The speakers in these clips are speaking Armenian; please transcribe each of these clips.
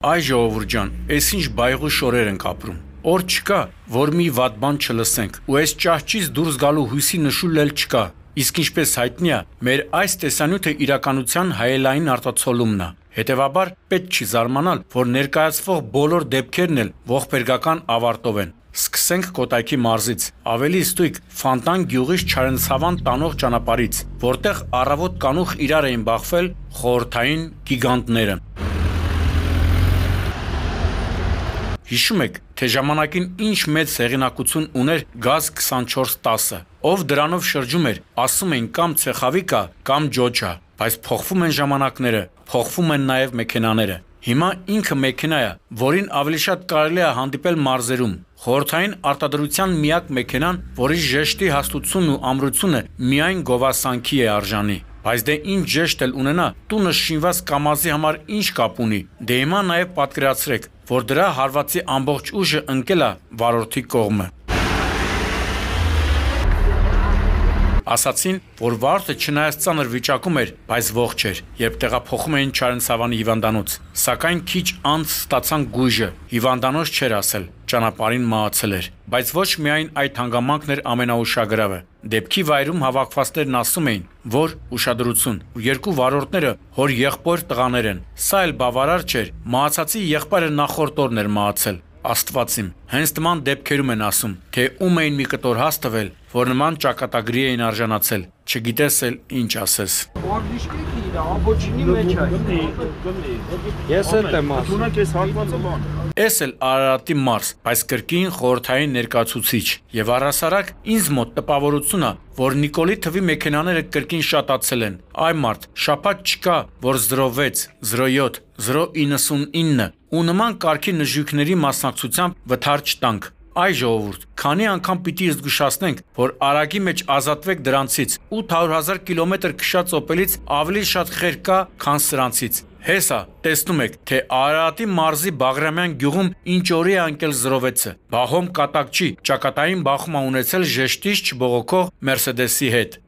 Այ ժողովուրդ ջան, էս ինչ բայղու շորեր ենք ապրում։ Օր չկա, որ մի վատ բան չլսենք, ու այս ճահճից դուրս գալու հույսի նշույլ էլ չկա։ Իսկ ինչպես հայտնի է, մեր այս տեսանյութը իրականության հայելային արտացոլումն է։ Հետևաբար պետք չի զարմանալ, որ ներկայացվող բոլոր դեպքերն էլ ողբերգական ավարտով են։ Սկսենք Կոտայքի մարզից, ավելի ստույգ Ֆանտան գյուղից Չարենցավան տանող ճանապարհից, որտեղ առավոտ կանուխ իրար էին բախվել խորհրդային գիգանտները։ Հիշում եք, թե ժամանակին ինչ մեծ հեղինակություն ուներ Գազ 2410-ը, ով դրանով շրջում էր, ասում էին կամ ցեխավիկա, կամ ջոջա, բայց փոխվում են ժամանակները, փոխվում են նաև մեքենաները։ Հիմա ինքը մեքենա է, որին ավելի շատ կարելի է հանդիպել մարզերում։ Խորհրդային արտադրության միակ մեքենան, որի ժեշտի հաստությունն ու ամրությունը միայն գովասանքի է արժանի։ Բայց դե ինչ ժեշտ էլ ունենա, տունը շինված կամազի համար ինչ կապ ունի։ Դե հիմա նաև պատկերացրեք, որ դրա հարվածի ամբողջ ուժը ընկել է վարորդի կողմը։ Ասացին, որ վարորդը չնայած ծանր վիճակում էր, բայց ողջ էր, երբ տեղափոխում էին Չարենցավանի հիվանդանոց։ Սակայն քիչ անց ստացան գույժը, հիվանդանոց չէր ասել, ճանապարհին մահացել էր։ Բայց ոչ միայն այդ հանգամանքն էր ամենաուշագրավը։ Դեպքի վայրում հավաքվածներն ասում էին, որ ուշադրություն, երկու վարորդները հոր եղբոր տղաներ են։ Սա էլ բավարար չէր, մահացածի եղբայրը նախորդ օրն էր մահացել։ Աստված իմ, հենց նման դեպքերում են ասում, թե ում էին մի կտոր հաս տվել, որ նման ճակատագրի էին արժանացել, չգիտես էլ ինչ ասես։ Ես էլ եմ ասում։ Էս էլ Արարատի մարզ, բայց կրկին խորհրդային ներկայացուցիչ, եւ առհասարակ ինձ մոտ տպավորություն է, որ Նիկոլի թվի մեքենաները կրկին շատացել են։ Այ մարդ, շաբաթ չկա, որ 06, 07, 099 ու նման կարգի նժույգների մասնակցությամբ վթար չտանք։ Այ ժողովուրդ, քանի անգամ պիտի զգուշացնենք, որ արագի մեջ ազատվեք դրանցից, 800,000 կիլոմետր քշած օպելից ավելի շատ խեր կա, քան սրանցից։ Հեսա, տեսնում եք, թե Արարատի մարզի Բաղրամյան գյուղում ինչ օրի է անկել 06-ը։ Բահոմ կատակ չի, ճակատային բախում է ունեցել ժեշտից չբողոքող Մերսեդեսի հետ։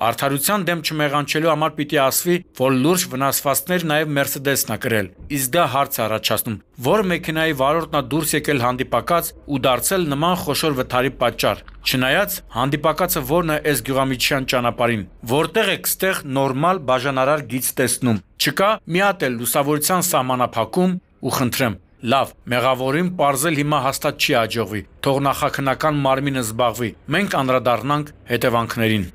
Արդարության դեմ չմեղանչելու համար պիտի ասվի, որ լուրջ վնասվածքներ նաև Մերսեդեսն է կրել։ Իսկ դա հարց է առաջացնում, որ մեքենայի վարորդն է դուրս եկել հանդիպակաց ու դարձել նման խոշոր վթարի պատճառ։ Չնայած հանդիպակացը որն է այս գյուղամիջյան ճանապարհին, որտեղ եք ստեղ նորմալ բաժանարար գիծ տեսնում։ Չկա մի հատ էլ լուսավորության սահմանափակում ու խնդրեմ։ Լավ, մեղավորին պարզել հիմա հաստատ չի հաջողվի, թող նախաքննական մարմինը զբաղվի, մենք անդրադառնանք հետևանքներին։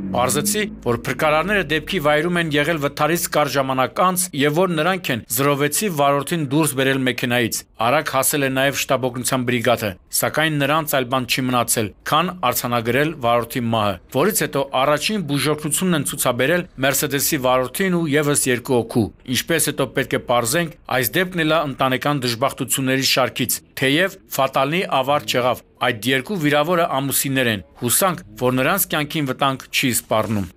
Պարզեցի, որ փրկարարները դեպքի վայրում են եղել վթարից կարճ ժամանակ անց եւ որ նրանք են 06-ի վարորդին դուրս բերել մեքենայից։ Արագ հասել է նաեւ շտաբօգնության բրիգադը, սակայն նրանց այլ բան չի մնացել, քան արձանագրել վարորդի մահը, որից հետո առաջին բուժօգնությունն են ցուցաբերել Մերսեդեսի վարորդին ու եւս երկու օգու։ Ինչպես հետո պետք է պարզենք, այս դեպքն էլ է ընտանեկան դժբախտությունների շարքից, թեև ֆատալնի ավարտ չեղավ։ Այդ երկու վիրավորը ամուսիններ են։ Հուսանք, որ նրանց կյանքին վտանգ չի սպառնում։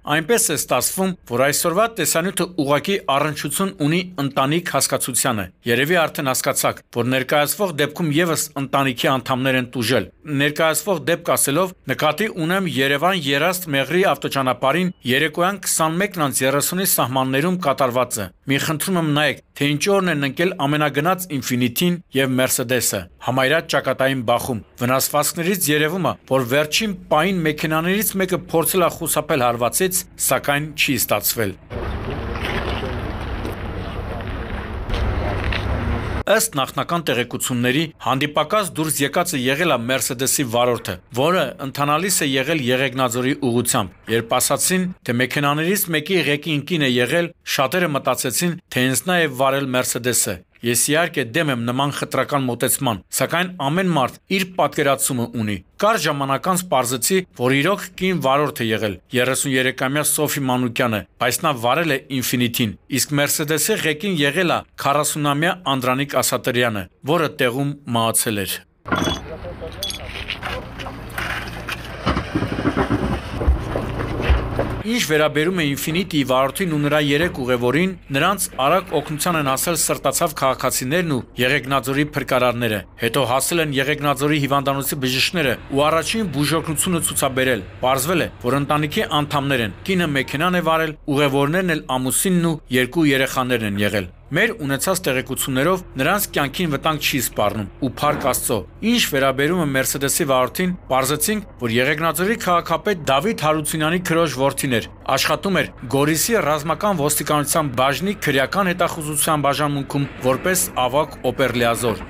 Այնպես է ստացվում, որ այսօրվա տեսանյութը ուղղակի առնչություն ունի ընտանիք հասկացությանը։ Երևի արդեն հասկացաք, որ ներկայացվող դեպքում եւս ընտանիքի անդամներ են տուժել։ Ներկայացվող դեպք ասելով նկատի ունեմ Երևան-Երաստ Մեղրի ավտոճանապարհին երեկոյան 21:30-ի սահմաններում կատարվածը։ Մի խնդրում եմ նայեք, թե ինչ օրն են ընկել ամենագնաց Ինֆինիտին եւ Մերսեդեսը։ Համարյա ճակատային բախում։ Վնասվածքներից երևում է, որ վերջին պահին մեքենաներից մեկը փորձել է խուսափել հարվածից, սակայն չի ստացվել։ Ըստ նախնական տեղեկությունների, հանդիպակաց դուրս եկածը եղել է Մերսեդեսի վարորդը, որը ընթանալիս է եղել Եղեգնաձորի ուղղությամբ։ Երբ ասացին, թե մեքենաներից մեկի ղեկին կին է եղել, շատերը մտածեցին, թե հենց նա է վարել Մերսեդեսը։ Ես իհարկե դեմ եմ նման խտրական մոտեցման, սակայն ամեն մարդ իր պատկերացումը ունի։ Կարճ ժամանակ անց պարզեցի, որ իրոք կին վարորդ է եղել 33-ամյա Սոֆի Մանուկյանը, բայց նա վարել է Ինֆինիտին, իսկ Մերսեդեսի ղեկին եղել է 40-ամյա Անդրանիկ Ասատրյանը, որը տեղում մահացել էր։ Ինչ վերաբերում է Ինֆինիտիի վարորդին ու նրա 3 ուղևորին, նրանց արագ օգնության են հասել սրտացավ քաղաքացիներն ու Եղեգնաձորի փրկարարները։ Հետո հասել են Եղեգնաձորի հիվանդանոցի բժիշկները ու առաջին բուժօգնությունը ցուցաբերել։ Պարզվել է, որ ընտանիքի անդամներ են։ Կինը մեքենան է վարել, ուղևորներն էլ ամուսինն ու 2 երեխաներն են եղել։ Մեր ունեցած տեղեկություններով նրանց կյանքին վտանգ չի սպառնում ու փառք Աստծո։ Ինչ վերաբերում է Մերսեդեսի վարորդին, պարզեցինք, որ Եղեգնաձորի քաղաքապետ Դավիթ Հարությունյանի քրոջ որդին էր, աշխատում էր Գորիսի ռազմական ոստիկանության բաժնի քրեական հետախուզության բաժանմունքում որպես ավագ օպերլիազոր։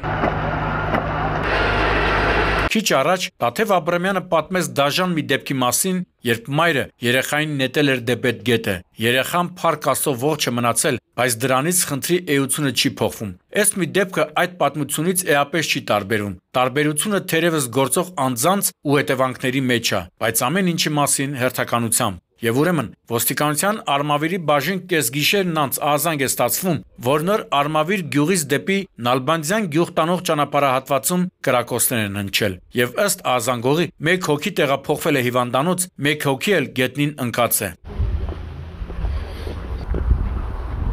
Քիչ առաջ Տաթև Աբրամյանը պատմեց դաժան մի դեպքի մասին, երբ մայրը երեխային նետել էր դեպետ գետը։ Երեխան փառք Աստծո ողջ է մնացել, բայց դրանից խնդրի էությունը չի փոխվում։ Ըստ մի դեպքը այդ պատմությունից էապես չի տարբերվում։ Տարբերությունը թերևս գործող անձանց ու հետևանքների մեջ է, բայց ամեն ինչի մասին հերթականությամբ։ Եվ ուրեմն ոստիկանության Արմավիրի բաժին կեսգիշերն անց ահազանգ է ստացվում, որ նոր Արմավիր գյուղից դեպի Նալբանդյան գյուղ տանող ճանապարհահատվածում կրակոցներ են հնչել։ Եվ ըստ ահազանգողի 1 հոգի տեղափոխվել է հիվանդանոց, 1 հոգի էլ գետնին ընկած է։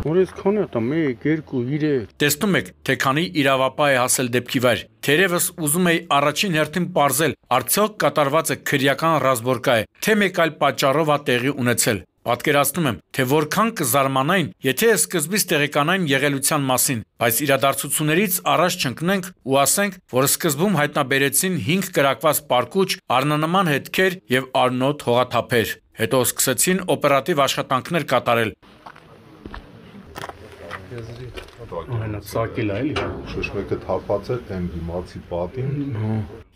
Որես քանի է 1, 2, 3։ Տեսնում եք, թե քանի իրավապահ է հասել դեպքի վայր։ Թերևս ուզում էի առաջին հերթին պարզել, արդյոք կատարվածը քրեական ռազմորկա է, թե մեկ այլ պատճառով է տեղի ունեցել։ Պատկերացնում եմ, թե որքան կզարմանային, եթե սկզբից տեղեկանային եղելության մասին, բայց իրադարձություններից առաջ չընկնենք ու ասենք, որ սկզբում հայտնաբերեցին 5 կրակված պարկուճ, առնանման հետքեր եւ արնոտ հողաթափեր։ Հետո սկսեցին օպերատիվ աշխատանքներ կատարել։ Այնա սակել է, էլի։ Շշմեկը թափած է այն դիմացի պատին։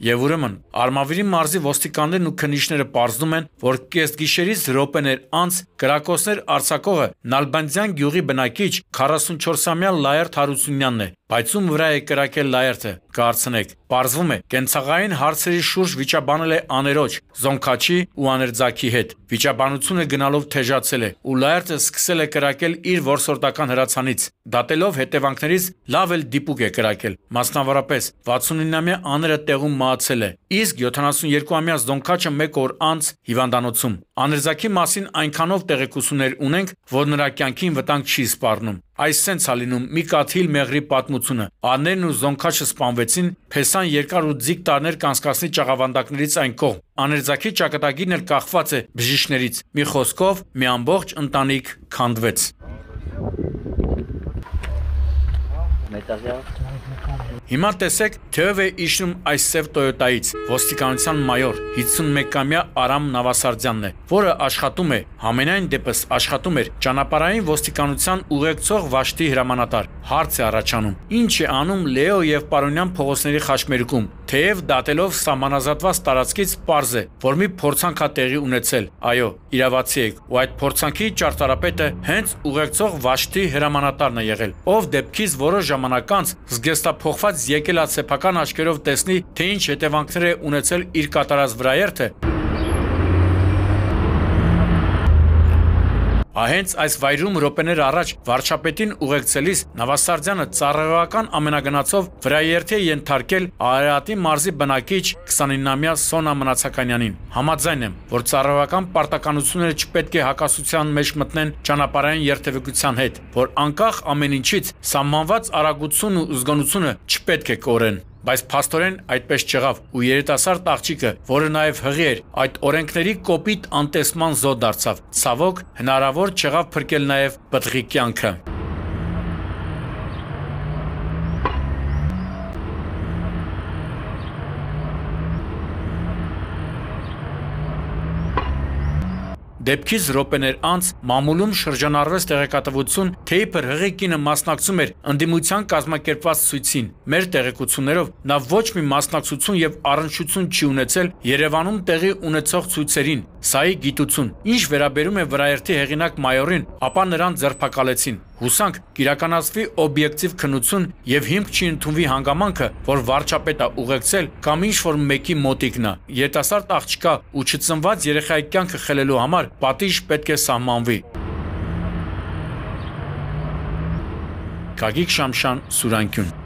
Եվ ուրեմն Արմավիրի մարզի ոստիկաններն ու քննիչները պարզում են, որ կեսգիշերից րոպեներ անց կրակոցներ արձակողը Նալբանդյան գյուղի բնակիչ 44-ամյա Լայերթ Հարությունյանն է, բայց ում վրա է կրակել Լայերթը, կհարցնեք։ Պարզվում է, կենցաղային հարցերի շուրջ վիճաբանել է աներոջ, Զոնքաչի ու Աներձակի հետ։ Վիճաբանությունը գնալով թեժացել է, ու Լայերթը սկսել է կրակել իր որսորդական հրացանից։ Դատելով հետևանքներից լավ էլ դիպուկ է կրակել։ Մասնավորապես 69-ամյա աները տեղում մահացել է, իսկ 72-ամյա Զոնքաչը 1 օր անց հիվանդանոցում։ Աներձակի մասին այնքանով տեղեկություններ ունենք, որ նրա կյանքին վտանգ չի սպառնում։ Այս սենց է լինում մի կաթիլ մեղրի պատմությունը։ Աներն ու Զոնքաչը սպանվեցին, Փեսան երկար ու ձիգ տարիներ կանցկացնի ճաղավանդակներից այն կողմ։ Աներձակի ճակատագիրն էլ կախված է բժիշկներից։ Մի խոսքով մի ամբողջ ընտանիք քանդվեց։ Հիմա տեսեք, թե ով է իջնում այս սև Տոյոտայից։ Ոստիկանության մայոր 51-ամյա Արամ Նավասարդյանն է, որը աշխատում է, համենայն դեպս աշխատում էր ճանապարհային ոստիկանության ուղեկցող վաշտի հրամանատար։ Հարց է առաջանում. ինչ է անում Լեո եւ Պարոնյան փողոցների խաչմերուկում։ Թեև դատելով սահմանազատված տարածքից պարզ է, որ մի փորձանք է տեղի ունեցել։ Այո, իրավացի եք, ու այդ փորձանքի ճարտարապետը հենց ուղեկցող վաշտի հրամանատարն է եղել, ով դեպքից որոշ ժամանակ անց զգեստափոխված եկել է սեփական աչքերով տեսնի, թե ինչ հետևանքներ է ունեցել իր կատարած վրաերթը։ Հենց այս վայրում րոպեներ առաջ վարչապետին ուղեկցելիս Նավասարդյանը ծառայողական ամենագնացով վրաերթի է ենթարկել Արարատի մարզի բնակիչ 29-ամյա Սոնա Մնացականյանին։ Համաձայն եմ, որ ծառայողական պարտականությունները չպետք է հակասության մեջ մտնեն ճանապարհային երթևեկության հետ, որ անկախ ամեն ինչից սահմանված արագությունն ու զգոնությունը չպետք է կորեն։ Բայց փաստորեն այդպես չեղավ, ու երիտասարդ աղջիկը, որը նաև հղի էր, այդ օրենքների կոպիտ անտեսման զոհ դարձավ։ Ցավոք, հնարավոր չեղավ փրկել նաև պտղի կյանքը։ Դեպքից րոպեներ անց մամուլում շրջանառվեց տեղեկատվություն, թե իբր հղի կինը մասնակցում էր ընդդիմության կազմակերպված ցույցին։ Մեր տեղեկություններով նա ոչ մի մասնակցություն եւ առնչություն չի ունեցել Երևանում տեղի ունեցող ցույցերին։ Սա է գիտություն։ Ինչ վերաբերում է վրաերթի հեղինակ մայորին, ապա նրան ձերբակալեցին։ Հուսանք կիրականացվի օբյեկտիվ քննություն եւ հիմք չի ընդունվի հանգամանքը, որ վարչապետը ուղեկցել կամ ինչ-որ մեկի մոտիկն է։ Երիտասարդ աղջկա ու չծնված երեխայի կյանքը խելելու համար պատիժ պետք է սահմանվի։ Գագիկ Շամշան, Սուրանկյուն։